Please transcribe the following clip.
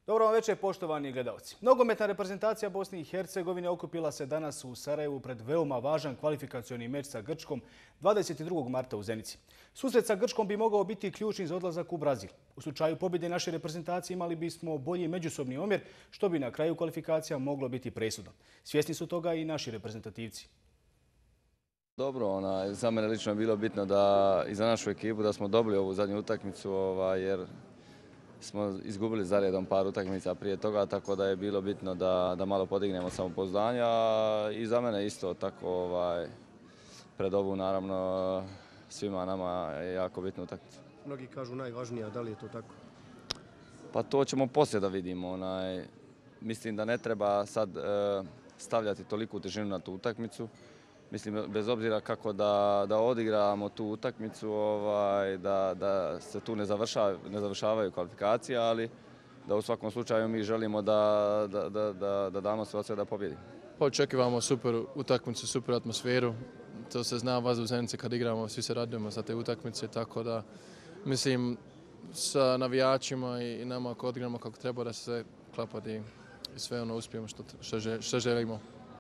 Dobro vam večer, poštovani gledalci. Nogometna reprezentacija Bosne i Hercegovine okupila se danas u Sarajevu pred veoma važan kvalifikacioni meč sa Grčkom 22. marta u Zenici. Susret sa Grčkom bi mogao biti ključni za odlazak u Brazil. U slučaju pobjede naše reprezentacije imali bismo bolji međusobni omjer, što bi na kraju kvalifikacija moglo biti presudno. Svjesni su toga i naši reprezentativci. Dobro, za mene lično je bilo bitno da i za našu ekipu da smo dobili ovu zadnju utakmicu jer smo izgubili za redom par utakmica prije toga, tako da je bilo bitno da malo podignemo samopouzdanje, a i za mene isto tako pred ovu naravno svima nama je jako bitna utakmica. Mnogi kažu najvažnija, da li je to tako? Pa to ćemo poslije da vidimo. Mislim da ne treba sad stavljati toliku težinu na tu utakmicu. Mislim, bez obzira kako da odigramo tu utakmicu, da se tu ne završavaju kvalifikacije, ali da u svakom slučaju mi želimo da damo sve od sebe da pobjedimo. Očekivamo super utakmicu, super atmosferu. To se zna vas u Zenici kad igramo, svi se radujemo za te utakmice, tako da mislim sa navijačima i nama ako odigramo kako treba da se sve klapa i sve uspijemo što želimo.